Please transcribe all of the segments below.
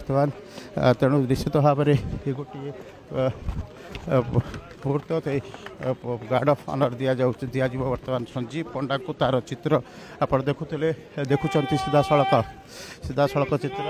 ବର୍ତ୍ତମାନ। ତେଣୁ ନିଶ୍ଚିତ ଭାବରେ ଏ ଗୋଟିଏ ମୁହୂର୍ତ୍ତ, ଗାର୍ଡ଼ ଅଫ୍ ଅନର୍ ଦିଆଯାଉଛି, ଦିଆଯିବ ବର୍ତ୍ତମାନ ସଞ୍ଜୀବ ପଣ୍ଡାଙ୍କୁ। ତାର ଚିତ୍ର ଆପଣ ଦେଖୁଥିଲେ, ଦେଖୁଛନ୍ତି ସିଧାସଳଖ ଚିତ୍ର।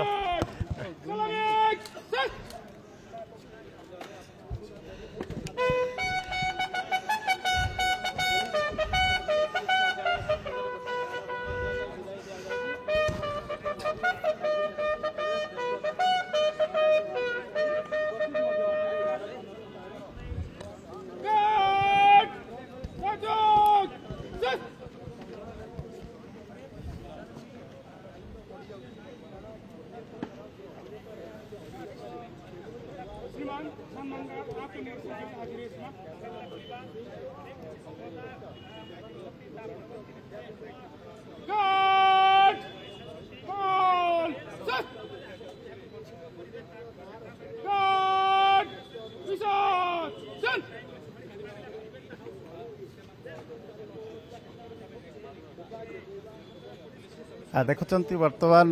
ଦେଖୁଛନ୍ତି ବର୍ତ୍ତମାନ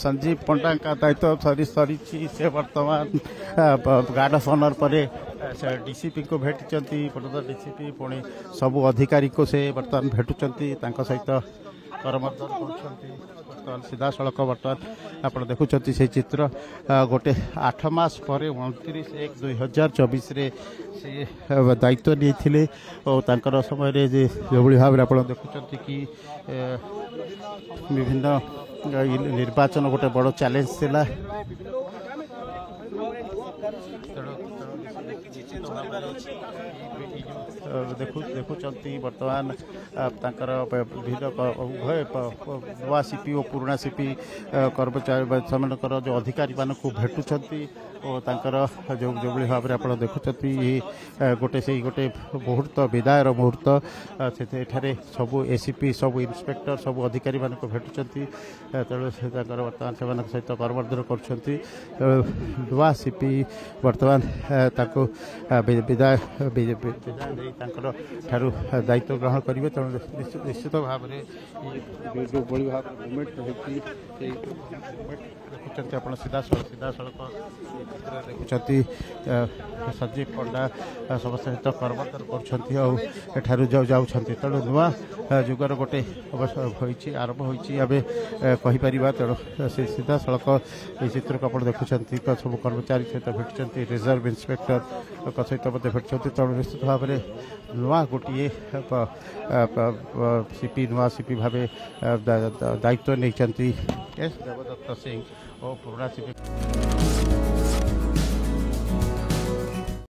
ସଞ୍ଜୀବ ପଣ୍ଡାଙ୍କ ଦାୟିତ୍ୱ ସରି ସରିଛି। ସେ ବର୍ତ୍ତମାନ ଗାର୍ଡ଼ ଅଫ୍ ଅନର୍ ପରେ ସେ ଡିସିପିଙ୍କୁ ଭେଟିଛନ୍ତି, ପୂର୍ବତନ ଡିସିପି, ପୁଣି ସବୁ ଅଧିକାରୀଙ୍କୁ ସେ ବର୍ତ୍ତମାନ ଭେଟୁଛନ୍ତି, ତାଙ୍କ ସହିତ କରମର୍ଦ୍ଦନ କରୁଛନ୍ତି। ବର୍ତ୍ତମାନ ସିଧାସଳଖ ବର୍ତ୍ତମାନ ଆପଣ ଦେଖୁଛନ୍ତି ସେଇ ଚିତ୍ର। ଗୋଟେ 8 ମାସ ପରେ 29/1/2024ରେ ସେ ଦାୟିତ୍ୱ ନେଇଥିଲେ ଓ ତାଙ୍କର ସମୟରେ ଯେ ଯେଉଁଭଳି ଭାବରେ ଆପଣ ଦେଖୁଛନ୍ତି କି ବିଭିନ୍ନ ନିର୍ବାଚନ ଗୋଟେ ବଡ଼ ଚ୍ୟାଲେଞ୍ଜ ଥିଲା। ଦେଖୁଛନ୍ତି ବର୍ତ୍ତମାନ ତାଙ୍କର ବିଭିନ୍ନ ଉଭୟ ନୂଆ ସିପି ଓ ପୁରୁଣା ସିପି କର୍ମଚାରୀ ସେମାନଙ୍କର ଯେଉଁ ଅଧିକାରୀମାନଙ୍କୁ ଭେଟୁଛନ୍ତି ଓ ତାଙ୍କର ଯେଉଁ ଯେଉଁଭଳି ଭାବରେ ଆପଣ ଦେଖୁଛନ୍ତି ଗୋଟେ ସେଇ ଗୋଟେ ମୁହୂର୍ତ୍ତ, ବିଦାୟର ମୁହୂର୍ତ୍ତ। ଏଠାରେ ସବୁ ଏସିପି, ସବୁ ଇନ୍ସପେକ୍ଟର, ସବୁ ଅଧିକାରୀମାନଙ୍କୁ ଭେଟୁଛନ୍ତି। ତେଣୁ ସେ ତାଙ୍କର ବର୍ତ୍ତମାନ ସେମାନଙ୍କ ସହିତ କରମର୍ଦ୍ଦନ କରୁଛନ୍ତି। ନୂଆ ସିପି ବର୍ତ୍ତମାନ ତାଙ୍କୁ ବିଦାୟ ଦେଇ ତାଙ୍କର ଠାରୁ ଦାୟିତ୍ୱ ଗ୍ରହଣ କରିବେ। ତେଣୁ ନିଶ୍ଚିତ ଭାବରେ ଯେଉଁଭଳି ଭାବରେ ମୁଭମେଣ୍ଟ ରହିଛି, ସେଇ ମୁଭମେଣ୍ଟ ଦେଖୁଛନ୍ତି ଆପଣ ସିଧାସଳଖ ଚିତ୍ରରେ ଦେଖୁଛନ୍ତି। ସଞ୍ଜୀବ ପଣ୍ଡା ସମସ୍ତ ସହିତ କରମର୍ଦ୍ଦନ କରୁଛନ୍ତି ଆଉ ଏଠାରୁ ଯାଉଛନ୍ତି। ତେଣୁ ନୂଆ ଯୁଗର ଗୋଟେ ଅବଶ୍ୟ ହୋଇଛି, ଆରମ୍ଭ ହୋଇଛି ଆମେ କହିପାରିବା। ତେଣୁ ସେ ସିଧାସଳଖ ଏହି ଚିତ୍ରକୁ ଆପଣ ଦେଖୁଛନ୍ତି, ସବୁ କର୍ମଚାରୀ ସହିତ ଭେଟୁଛନ୍ତି, ରିଜର୍ଭ ଇନ୍ସପେକ୍ଟରଙ୍କ ସହିତ ମଧ୍ୟ ଭେଟୁଛନ୍ତି। ତେଣୁ ନିଶ୍ଚିତ ଭାବରେ ନୂଆ ଗୋଟିଏ ସିପି, ନୂଆ ସିପି ଭାବେ ଦାୟିତ୍ୱ ନେଇଛନ୍ତି ଏସ୍ ଦେବଦତ୍ତ ସିଂ ଓ ପୁରୁଣା ସିପି।